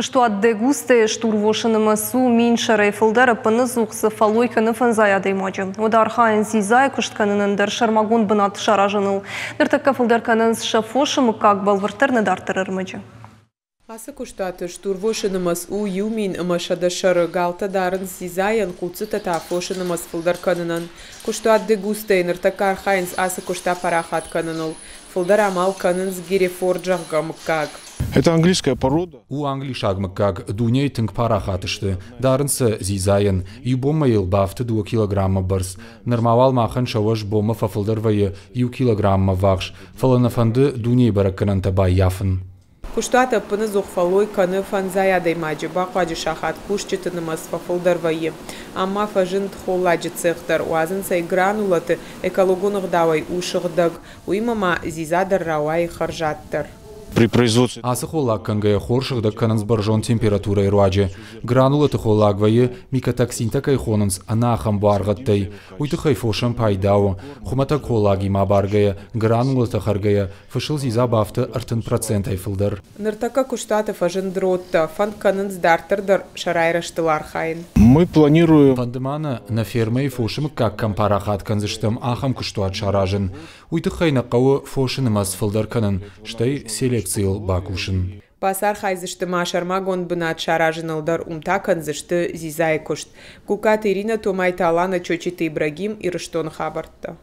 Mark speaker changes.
Speaker 1: Куыстуат Дегусте-йы стурвосы нымӕц у 1000 сӕрӕй фылдӕр, ӕппынӕдзух дзы фӕллой кӕны фӕндзай адӕймаджы. Уӕдӕ архайынц дзидзайы куыст кӕнынӕн дӕр сӕрмагонд бынат саразыныл. Ныртӕккӕ фылдӕр кӕнынц сӕ фосы мыггаг, бӕлвырддӕр нӕ дарддӕр ӕрмӕджы.
Speaker 2: Ацы куыстуаты стурвосы нымӕц у 1100 сӕры. Галтӕ дарынц дзидзайӕн, хъуццытӕ та фосы нымӕц фылдӕр кӕнынӕн. Куыстуат Дегусте-йы ныртӕккӕ архайынц ацы куыст апарахат кӕныныл. Фылдӕр амал кӕнынц Герефорд, зӕгъгӕ, мыггаг.
Speaker 3: Это английская порода.
Speaker 4: У англисаг мыггаг, дунейы тынг парахат сты. Дарынц сӕ дзидзайӕн. Иу бонмӕ йыл бафты 2 килограммы бӕрц. Нырма уал махӕн сӕ уӕз бонмӕ фӕфылдӕр вӕййы 1 килограмммӕ ввахс, фӕлӕ нӕ фӕнды дунейы бӕрӕггӕнӕнтӕ баййафын.
Speaker 2: Куыстуат ӕппынӕдзух фӕллой кӕны фӕндзай адӕймаджы. Бахъуаджы сахат кусджыты нымӕц фӕфылдӕр вӕййы. Ам ма фӕзынд холладжы цех дӕр. Уадзынц ӕй гранулӕты, экологон ӕгъдауӕй у сыгъдӕг. Уыимӕ ма дзидза дӕр рауайы хӕрзаддӕр.
Speaker 3: При производстве
Speaker 4: Ацы холлаг кӕнгӕйӕ хор сыгъдӕг кӕнынц бӕрзонд температурӕйы руаджы. Гранулӕты холлаг вӕййы, микотоксинтӕ кӕй хонынц, ӕнӕ ахӕм буаргъӕдтӕй. Уый тыххӕй фосӕн пайда у. Хуымӕтӕг холлагимӕ абаргӕйӕ, гранулӕтӕ хӕргӕйӕ, фысыл дзидза бафты 30%-ӕй фылдӕр.
Speaker 2: Ныртӕккӕ куыстуаты фӕзынд родтӕ. Фӕнд кӕнынц дарддӕр дӕр сӕ райрӕзтыл архайын.
Speaker 3: Мы планируем
Speaker 4: Фӕнды ма нӕ, нӕ фермӕйы фосы мыггаг кӕм парахат кӕндзыстӕм, ахӕм куыстуат саразын. Уый тыххӕй нӕ хъӕуы фосы нымӕц фылдӕр кӕнын, стӕй селекцийыл бакусын.
Speaker 2: Бацархайдзысты ма сӕрмагонд бынат саразыныл дӕр, уым та кӕндзысты дзидзайы куыст. Гугкаты Иринӕ, Томайты Алана, Чочиты Ибрагим, Ирыстоны хабӕрттӕ.